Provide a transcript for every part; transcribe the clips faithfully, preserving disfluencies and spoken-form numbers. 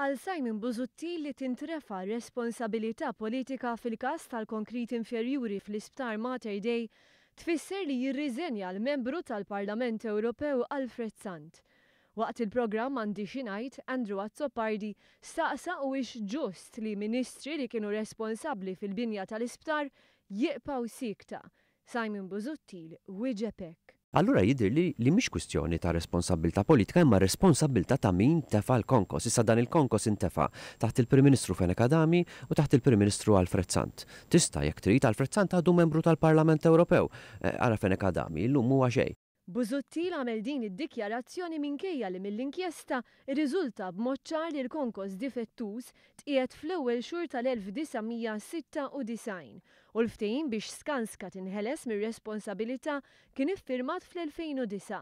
Għal Simon Busuttil, li tintrefa responsabilità politika fil-każ tal-konkrit inferjuri fl-Isptar Mater Dei tfisser li jirriżenja l-membru tal-Parlament Ewropew Alfred Sant. Waqt il-programm Għandi Xi Ngħid, Andrew Azzopardi staqsa huwiex ġust li ministri li kienu responsabbli fil-binja tal-isptar jibqgħu siekta. Simon Busuttil wieġeb hekk. Allura jidher li li mhix kwistjoni ta' responsabilità politika, imma responsabilità ta' min tefa l-konkos. Issa dan il-konkos intefa taħt il-Prim Ministru Fenech Adami u taħt il-Prim Ministru Alfred Sant. Tista' jekk trid, Alfred Sant għadu membru tal-Parlament Ewropew. Eh, Ara Fenech Adami, illum huwa xejn. Busuttil għamel din id-dikjarazzjoni minkejja li mill-inkjesta irriżulta b'mod ċar li l-konkos difettuż tqiegħed fl-ewwel xhur tal-elf disa' mija sitta u disgħin u l-ftehim biex Skanska tinħeles mir-responsabilità kien iffirmat fl-elfejn u disgħa.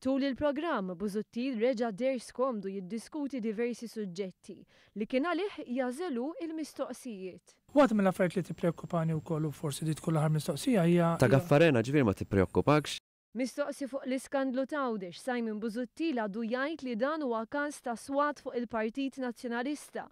Tul il-programm, Busuttil reġa' deher skomdu jiddiskuti diversi suġġetti li kien għalih jagħżel hu il-mistoqsijiet. Waħda mill-affarijiet li tippreokkupani wkoll, u forsi di tkun l-aħħar mistoqsija, hija Ta' Gaffarena ġifieri ma tippreokkupakx? Mistoqsi fuq l-iskandlu t'Għawdex, Simon Busuttil għadu jgħid li dan huwa każ ta' swat fuq il-Partit Nazzjonalista,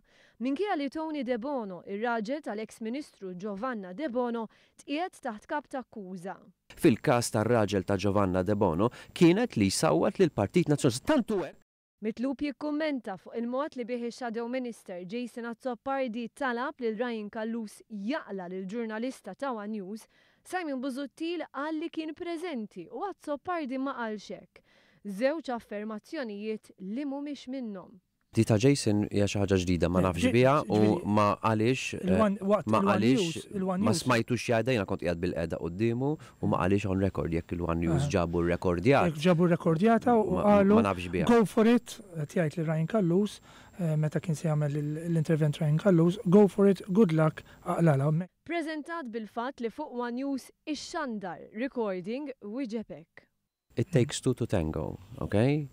minkejja li Tony Debono, ir-raġel tal-ex Ministru Giovanna Debono, tqiegħed taħt kap ta' akkuża. Fil-każ tar-raġel ta' Giovanna Debono kienet li sawwat lil Partit Nazzjonalista. Tantu hekk Mitlub jikkummenta fuq il-mod li bih ix-Shadow Minister Jason Azzopardi talab lil Ryan Callus jaqla lil ġurnalista ta' One News, Simon Busuttil qal li kien preżenti u Azzopardi ma qalx hekk. Żewġ affermazzjonijiet li mhumiex minnhom. Di ta' Jason hija xi ħaġa ġdida, ma Eh, nafx ġi- biha u ġifieri- ma għaliex eh, Il-one- waqt ma il-One għaliex News- il-One ma News- smajtux jgħidha, jiena kont qiegħed bilqiegħda quddiemu, u ma għaliex on record, jekk il-One News Ah. ġabu rrekordjat. Jekk ġabu rekordjata u Ma- qalu ma nafx biha. "Go for it", qed jgħid li Ryan Callus, eh, meta kien se jagħmel il- l-intervent Ryan Callus, "Go for it, good luck, aqlala." Preżentat bil-fatt li fuq One News ixxandar recording, wieġeb hekk. It takes two to tango, okay?